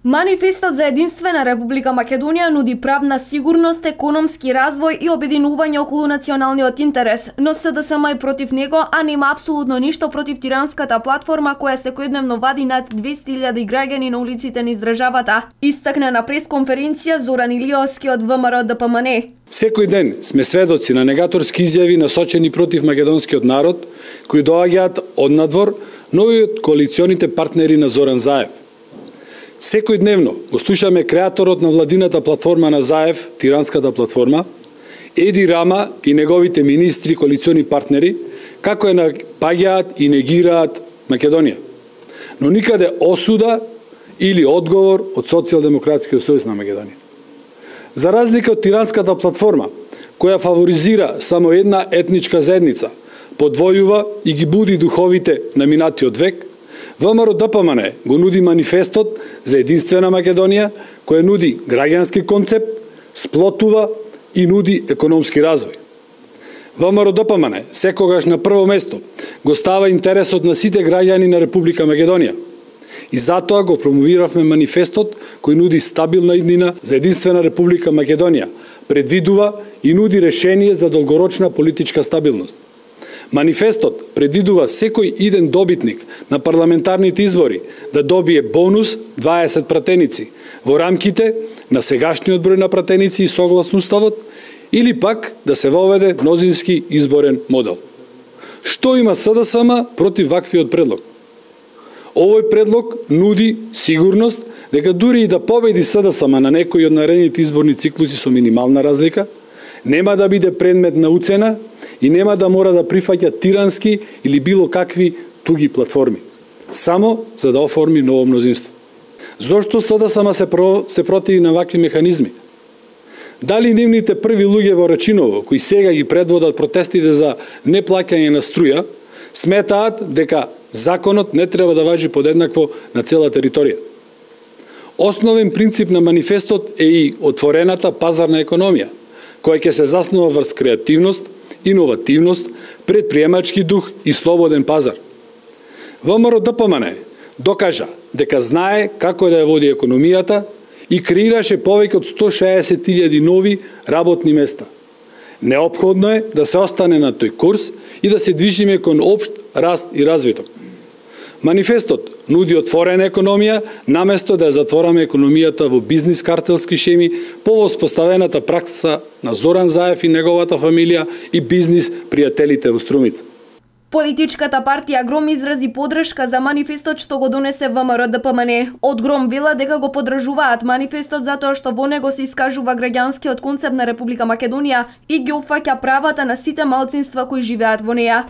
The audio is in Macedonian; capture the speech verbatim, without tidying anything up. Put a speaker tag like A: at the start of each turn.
A: Манифестот за единствена Република Македонија нуди правна сигурност, економски развој и обединување околу националниот интерес, но СДСМ е против него, а нема апсолутно ништо против тиранската платформа која секојдневно вади над двесте илјади граѓани на улиците низ државата. Истакна на пресконференција Зоран Илиовски од ВМРО Д П М Н.
B: Секој ден сме сведоци на негаторски изјави насочени против македонскиот народ, кои доаѓаат од надвор, но и од коалиционите партнери на Зоран Заев. Секој дневно го слушаме креаторот на владината платформа на Заев, тиранската платформа, Еди Рама и неговите министри, коалициони партнери, како е напаѓаат и негираат Македонија. Но никаде осуда или одговор од Социјалдемократскиот сојуз на Македонија. За разлика од тиранската платформа, која фаворизира само една етничка заедница, подвојува и ги буди духовите на минатиот век, ВМРО Д П М Н го нуди манифестот за единствена Македонија, која нуди граѓански концепт, сплотува и нуди економски развој. ВМРО Д П М Н секогаш на прво место го става интересот на сите граѓани на Република Македонија. И затоа го промовиравме манифестот кој нуди стабилна иднина за единствена Република Македонија, предвидува и нуди решение за долгорочна политичка стабилност. Манифестот предвидува секој иден добитник на парламентарните избори да добие бонус дваесет пратеници во рамките на сегашниот број на пратеници и согласно уставот, или пак да се воведе мнозински изборен модел. Што има СДСМ против ваквиот предлог? Овој предлог нуди сигурност дека дури и да победи СДСМ на некои од наредните изборни циклуси со минимална разлика, нема да биде предмет на уцена и нема да мора да прифаќа тирански или било какви туги платформи, само за да оформи ново мнозинство. Зошто СДСМ се, про, се противи на вакви механизми? Дали нивните први луѓе во Рачиново, кои сега ги предводат протестите за неплаќање на струја, сметаат дека законот не треба да важи подеднакво на цела територија? Основен принцип на манифестот е и отворената пазарна економија, која ќе се заснува врз креативност, иновативност, предприемачки дух и слободен пазар. ВМРО Д П М Н докажа дека знае како да ја води економијата и креираше повеќе од сто шеесет илјади нови работни места. Неопходно е да се остане на тој курс и да се движиме кон општ раст и развиток. Манифестот нуди отворена економија, наместо да ја затвораме економијата во бизнис картелски шеми по воспоставената пракса на Зоран Заев и неговата фамилија и бизнис пријателите во Струмица.
A: Политичката партија Гром изрази поддршка за манифестот што го донесе ВМРО Д П М Н. Од Гром вела дека го поддржуваат манифестот затоа што во него се искажува граѓанскиот концепт на Република Македонија и ги опфаќа правата на сите малцинства кои живеат во неа.